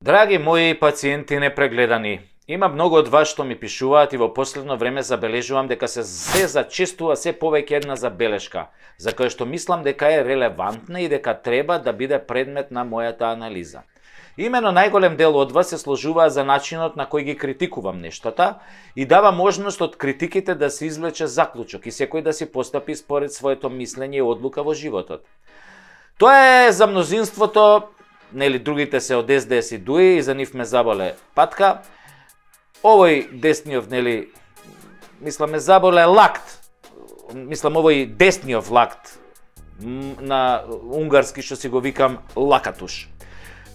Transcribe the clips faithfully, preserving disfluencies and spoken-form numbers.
Драги мои пациенти непрегледани, има многу од вас што ми пишуваат и во последно време забележувам дека се се зачестува се повеќе една забелешка, за која што мислам дека е релевантна и дека треба да биде предмет на мојата анализа. Имено најголем дел од вас се сложуваа за начинот на кој ги критикувам нештата и дава можност од критиките да се извлече заклучок и секој да си постапи според своето мислење и одлука во животот. Тоа е за мнозинството, нели другите се од Ес Де Ес и Дуи и за нив ме заболе патка. Овој десниот, нели, мислам ме заболе лакт. Мислам овој десниот лакт на унгарски што си го викам лакатуш.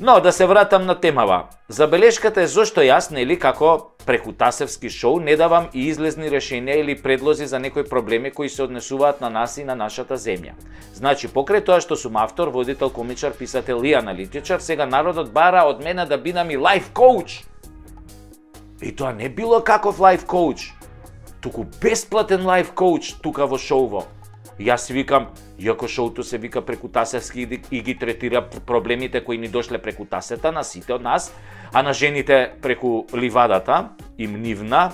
Но да се вратам на темава. Забелешката е зошто јас, нели, како преку Тасевски шоу не давам и излезни решенија или предлози за некои проблеми кои се однесуваат на нас и на нашата земја. Значи, покрај тоа што сум автор, водител, комичар, писател и аналитичар, сега народот бара од мене да бидам и лайф коуч. И тоа не било каков лайф коуч, туку бесплатен лайф коуч тука во шоуво. Јас си викам, иако шоуто се вика преку Тасевски и ги третира проблемите кои ни дошле преку тасета на сите од нас, а на жените преку ливадата, им нивна.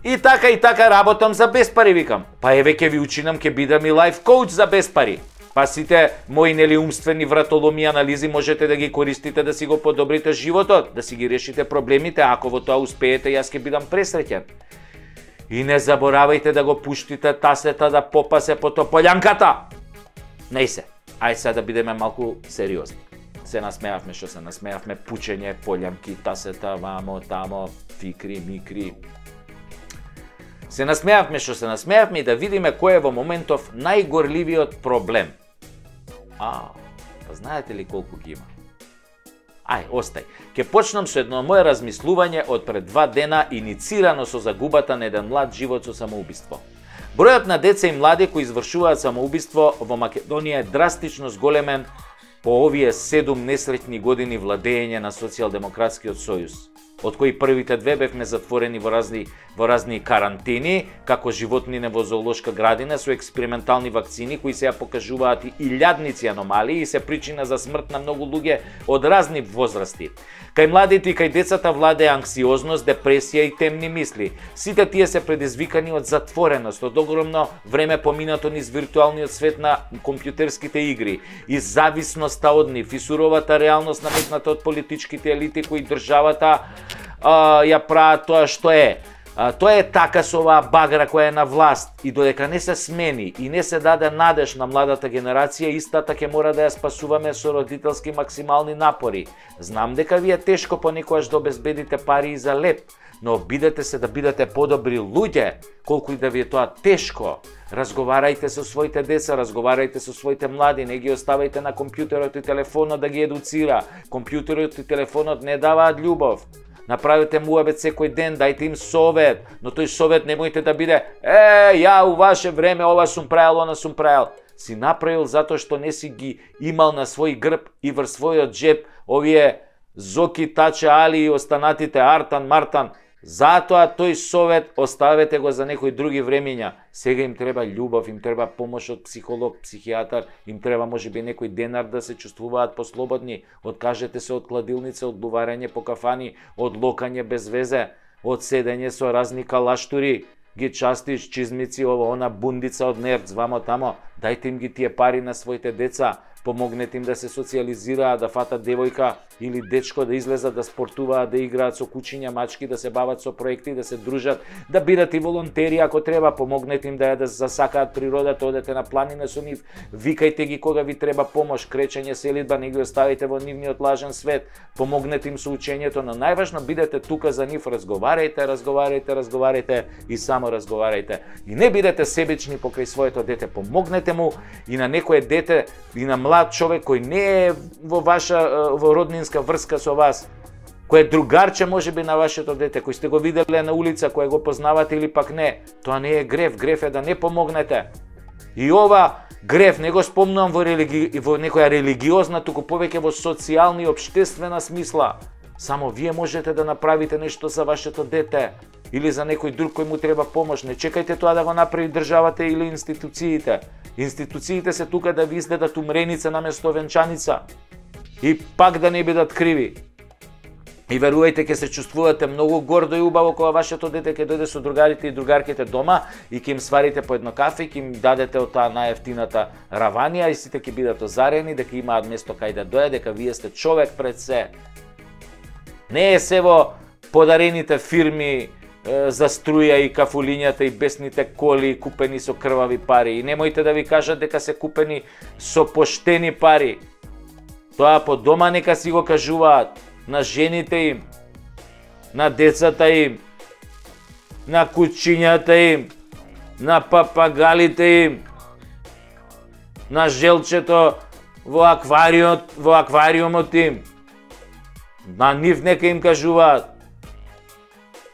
И така и така работам за без пари, викам. Па еве ќе ви учинам, ќе бидам и лайф коуч за без пари. Па сите мои нели умствени вратоломи анализи можете да ги користите да си го подобрите животот, да си ги решите проблемите, ако во тоа успеете, јас ќе бидам пресреќен. И не заборавајте да го пуштите тасета да попасе по тополјанката. Не се. Ај сега да бидеме малку сериозни. Се насмеавме што се насмеавме, пучење, полјанки, тасета, вамо, тамо, фикри, микри. Се насмеавме што се насмеавме и да видиме кој е во моментов најгорливиот проблем. А, па знаете ли колку ги има? Ај, остај. Ке почнам со едно моје размислување од пред два дена иницирано со загубата на еден млад живот со самоубиство. Бројот на деца и млади кои извршуваат самоубиство во Македонија е драстично зголемен по овие седум несреќни години владење на Социјалдемократскиот сојуз, од кои првите две бевме затворени во разни во разни карантини, како животнине во зоолошка градина со експериментални вакцини кои се ја покажуваат и илјадници аномалии и се причина за смрт на многу луѓе од разни возрасти. Кај младите и кај децата владее анксиозност, депресија и темни мисли. Сите тие се предизвикани од затвореност, од огромно време поминато низ виртуалниот свет на компјутерските игри, и зависноста од нив, и суровата реалност наметната од политичките елити кои државата а, ја прават тоа што е. А, тоа е така со оваа багра која е на власт и додека не се смени и не се даде надеж на младата генерација, истата ќе мора да ја спасуваме со родителски максимални напори. Знам дека ви е тешко понекогаш да обезбедите пари и за леп, но обидете се да бидете подобри луѓе, колку и да ви е тоа тешко. Разговарајте со своите деца, разговарајте со своите млади, не ги оставајте на компјутерот и телефонот да ги едуцира. Компјутерот и телефонот не даваат љубов. Направете муабет секој ден, дајте им совет, но тој совет немојте да биде е, ја у ваше време ова сум правил, она сум правил. Си направил затоа што не си ги имал на свој грб и врз својот джеб овие Зоки, Таче, Али и останатите Артан, Мартан. Затоа тој совет оставете го за некои други времиња. Сега им треба љубов, им треба помош од психолог, психијатар, им треба можеби некој денар да се чувствуваат послободни. Откажете се од кладилница, од буварење по кафани, од локање без везе, од седење со разни калаштури, ги частиш, чизмици, ова, она бундица од нерц, вамо тамо. Дајте им ги тие пари на своите деца, помогнете им да се социализираат, да фатат девојка или дечко, да излезат, да спортуваат, да играат со кучиња, мачки, да се бават со проекти, да се дружат, да бидат и волонтери ако треба, помогнете им да ја да засакаат природата, одете на планина со нив, викајте ги кога ви треба помош, кречење, селидба, не ги оставите во нивниот лажен свет, помогнете им со учењето, но најважно бидете тука за нив, разговарајте, разговарајте, разговарајте и само разговарајте. И не бидете себични покрај своето дете, помогнете му и на некое дете и на млад човек кој не е во ваша во роднинска врска со вас, кој е другарче можеби на вашето дете, кој сте го виделе на улица, кој го познавате или пак не, тоа не е грев, грев е да не помогнете. И ова грев не го спомнувам во, религи... во некоја религиозна, туку повеќе во социјална и општествена смисла. Само вие можете да направите нешто за вашето дете или за некој друг кој му треба помош. Не чекајте тоа да го направи државата или институциите. Институциите се тука да ви издадат умреница наместо венчаница. И пак да не бидат криви. И верувајте, ќе се чувствувате многу гордо и убаво кога вашето дете ќе дојде со другарите и другарките дома и ќе им сварите по едно кафе и ќе им дадете од таа најефтината раванија и сите ќе бидат озарени дека имаат место кај да дојде, дека вие сте човек пред се. Не е се во подарените фирми за струја и кафулињата и бесните коли купени со крвави пари. И немојте да ви кажат дека се купени со поштени пари. Тоа по дома нека си го кажуваат на жените им, на децата им, на кучињата им, на папагалите им, на желчето во аквариумот, во аквариумот им. На нив нека им кажуваат.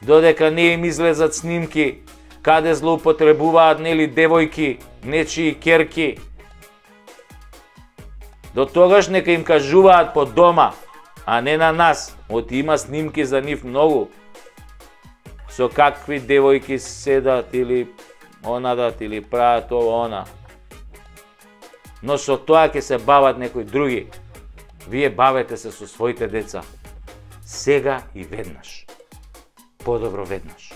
Додека не им излезат снимки каде злоупотребуваат нели девојки, нечии керки. До тогаш нека им кажуваат по дома, а не на нас. Оти има снимки за нив многу. Со какви девојки седат или онадат или прават ова она. Но со тоа ќе се бават некои други. Вие бавете се со своите деца. Сега и веднаш. Подобро веднаш.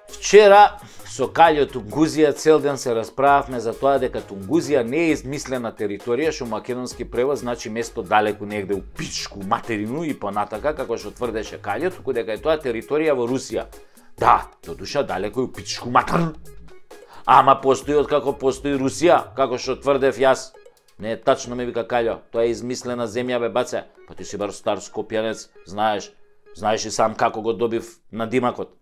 Вчера со Каљо Тунгузија цел ден се расправавме за тоа дека Тунгузија не е измислена територија, што македонски превод значи место далеку негде у пичку материну и понатака, како што тврдеше Каљо, туку дека е тоа територија во Русија. Да, до душа далеку у пичку материну. Ама постои откако постои Русија, како што тврдев јас. Не е тачно, ме вика Каљо, тоа е измислена земја, бе баце. Па ти си бар стар скопјанец, знаеш, знаеш и сам како го добив на димакот.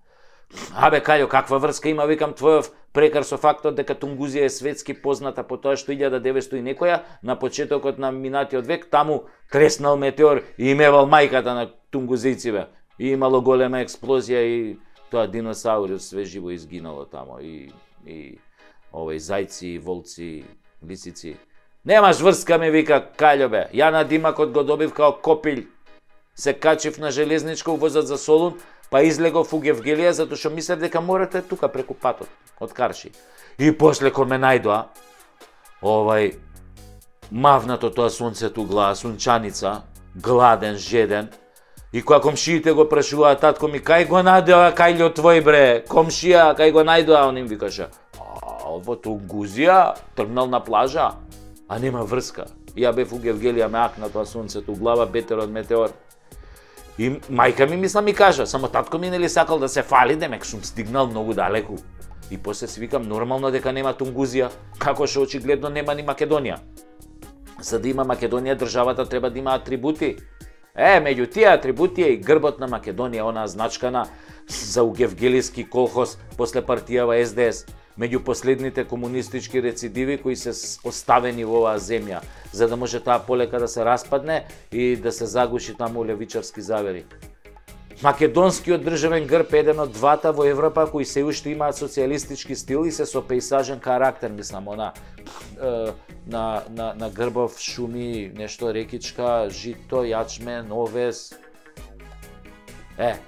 Абе Каљо, каква врска има, викам, твојов прекар со фактот дека Тунгузија е светски позната по тоа што илјада деветстотини и некоја на почетокот на минатиот век таму треснал метеор и имевал мајката на тунгузијциве. И имало голема експлозија и тоа диносаури све живо изгинало тамо и и овој зајци, волци, лисици. Немаш врска, ми вика Каљо, бе. Ја на димакот го добив као копилј. Се качив на железничка увозат за Солун, па излегов у Гевгелија, затоа што мислев дека морате тука преку патот, од Карши. И после кога ме најдоа, овај, мавнато тоа сонцето глава, сунчаница, гладен, жеден, и кога комшиите го прашуваа, татко ми, кај го најдоа Кајло твој, бре, комшија, кај го најдоа, он им викаше, а, во Тунгузија, тргнал на плажа, а нема врска. Ја бев у Гевгелија, ме акна тоа сонцето глава, бетер од метеор. И мајка ми мисла ми кажа, само татко ми нели сакал да се фали, демек сум стигнал многу далеку. И после си викам, нормално дека нема Тунгузија, како што очигледно нема ни Македонија. За да има Македонија, државата треба да има атрибути. Е, меѓу тие атрибути е и грбот на Македонија, онаа значкана за угевгелиски колхоз после партијава Ес Де Ес. Меѓу последните комунистички рецидиви кои се оставени во оваа земја, за да може таа полека да се распадне и да се загуши таму левичарски завери. Македонскиот државен грб е еден од двата во Европа кои се уште имаат социјалистички стил и се со пејсажен карактер, мислам, она е, на, на, на грбов шуми, нешто рекичка, жито, јачмен, овес. Е.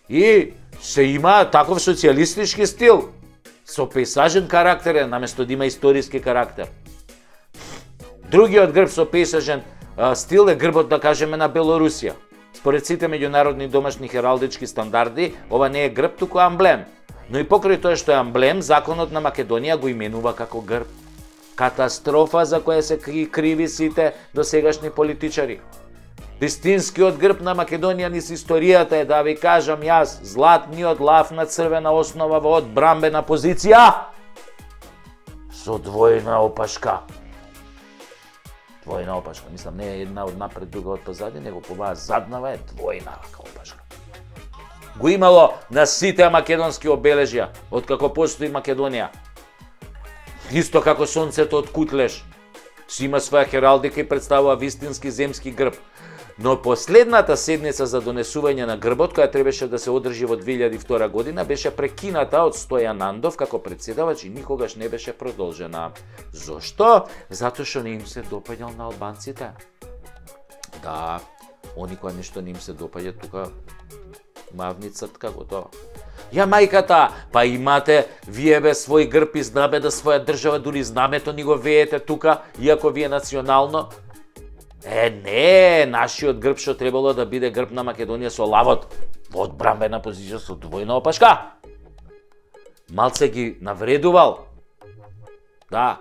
И се има таков социјалистички стил. Со пејсажен карактер е, наместо да има историски карактер. Другиот грб со пејсажен стил е грбот, да кажеме, на Белорусија. Според сите меѓународни домашни хералдички стандарди, ова не е грб, туку амблем. Но и покрај тоа што е амблем, законот на Македонија го именува како грб. Катастрофа за која се криви сите досегашни политичари. Вистинскиот грб на Македонија низ историјата е, да ви кажам јас, златниот лав на црвена основа во одбрамбена позиција со двојна опашка. Двојна опашка, мислам, не е една од напред, друга од позади, него оваа заднава е двојна опашка. Го имало на сите македонски обележја, откако постои Македонија. Исто како сонцето од Кутлеш, си има своја хералдика и представува вистински земски грб. Но последната седница за донесување на грбот, која требаше да се одржи во две илјади и втора година, беше прекината од Стојан Нандов како претседавач и никогаш не беше продолжена. Зошто? Затоа што не им се допаѓал на албанците. Да, они која нешто не им се допаѓа, тука Мавни цртка, готово. Ја мајката, па имате вие бе свој грб и знаме да своја држава, дури знамето ни го веете тука, иако ви е национално. Е, не, нашиот грб што требало да биде грб на Македонија со лавот, во одбранбена позиција со двојна опашка. Малце ги навредувал. Да,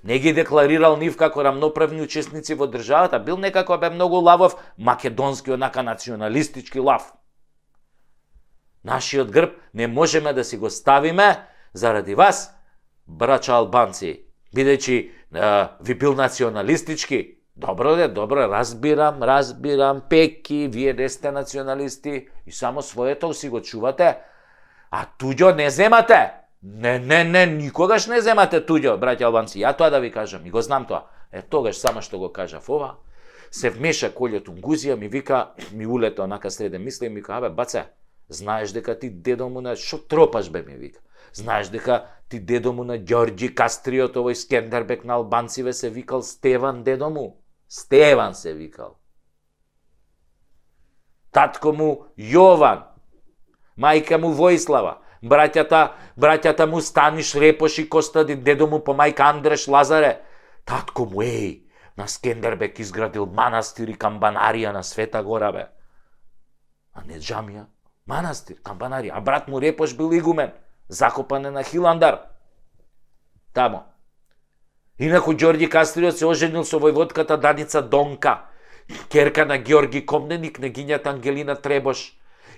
не ги декларирал нив како рамноправни учесници во државата, бил некако бе многу лавов, македонски, онака националистички лав. Нашиот грб не можеме да си го ставиме заради вас, брача албанци, бидејќи е, ви бил националистички. Добро де, добро, разбирам, разбирам, пеки, вие не сте националисти и само своето си го чувате, а туѓо не земате. Не, не, не, никогаш не земате туѓо, браќа албанци. Ја тоа да ви кажам, и го знам тоа. Е, тогаш само што го кажав ова, се вмеша Колјо Тунгузија, ми вика, ми улета онака среде мисли, ми вика, абе, баце, знаеш дека ти дедо му на... Шо тропаш, бе, ми вика. Знаеш дека ти дедо му на Ѓорѓи Кастриот, овој Скендербек на албанциве, се викал Стеван дедо му. Стеван се викал. Татко му Јован. Мајка му Војслава. Браќата, браќата му Станиш, Репош и Костадин, дедо му по мајка Андреш Лазаре. Татко му, еј, на Скендербек изградил манастир и камбанарија на Света Гора, бе. А не џамија, манастир, камбанарија. А брат му Репош бил игумен, закопан е на Хиландар. Тамо. Инаку Ѓорѓи Кастриот се оженил со војводката Даница Донка, керка на Ѓорги Комненик, княгињата Ангелина Требош.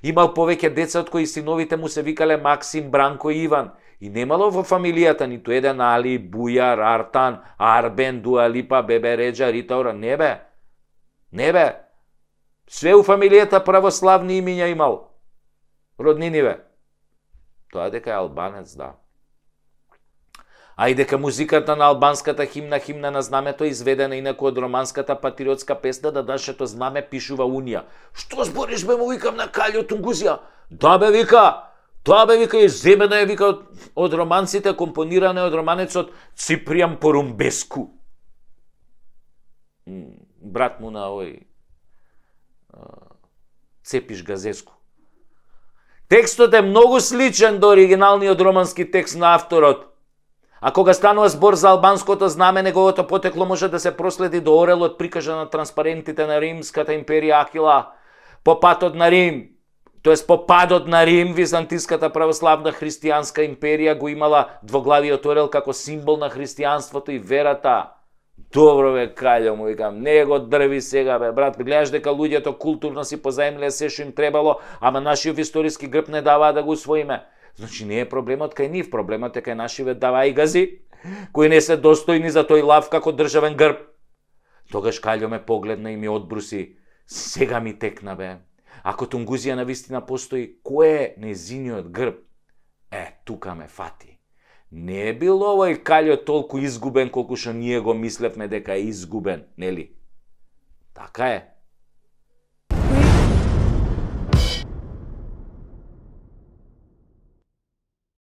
Имал повеќе деца од кои синовите му се викале Максим, Бранко и Иван. И немало во фамилијата ниту еден Али, Бујар, Артан, Арбен, Дуалипа, Бебе Реджа, Ритаура. Не бе. Не бе. Све у фамилијата православни имиња имал. Роднини бе. Тоа дека е албанец, да. А и дека музиката на албанската химна, химна на знамето, изведена инаку од романската патриотска песна да нашето знаме пишува Унија. Што збориш, бе, му викам на Калјо Тунгузија? Да, бе, вика. Тоа, бе, вика, изземена е, вика, од, од романците, компонирана од романецот Ципријан Порумбеску. Брат му на овој Цепиш Газеску. Текстот е многу сличен до оригиналниот романски текст на авторот. А кога станува збор за албанското знаме, неговото потекло може да се проследи до орелот прикажа на транспарентите на Римската империја Акила. По патот на Рим, тоест по падот на Рим, Византиската православна христијанска империја го имала двоглавиот орел како символ на христијанството и верата. Добро, бе, Калјо, му викам, не го дрви сега, бе, брат, гледаш дека луѓето културно си позаемле се што им требало, ама нашиот историски грб не даваа да го усвоиме. Значи не е проблемот кај нив, проблемот е кај нашиве даваи гази, кои не се достојни за тој лав како државен грб. Тогаш Калјо ме погледна и ми одбруси, сега ми текна, бе. Ако Тунгузија навистина постои, кој е незиниот грб? Е, тука ме фати. Не е бил овој Калјо толку изгубен колку што ние го мислевме дека е изгубен, нели? Така е.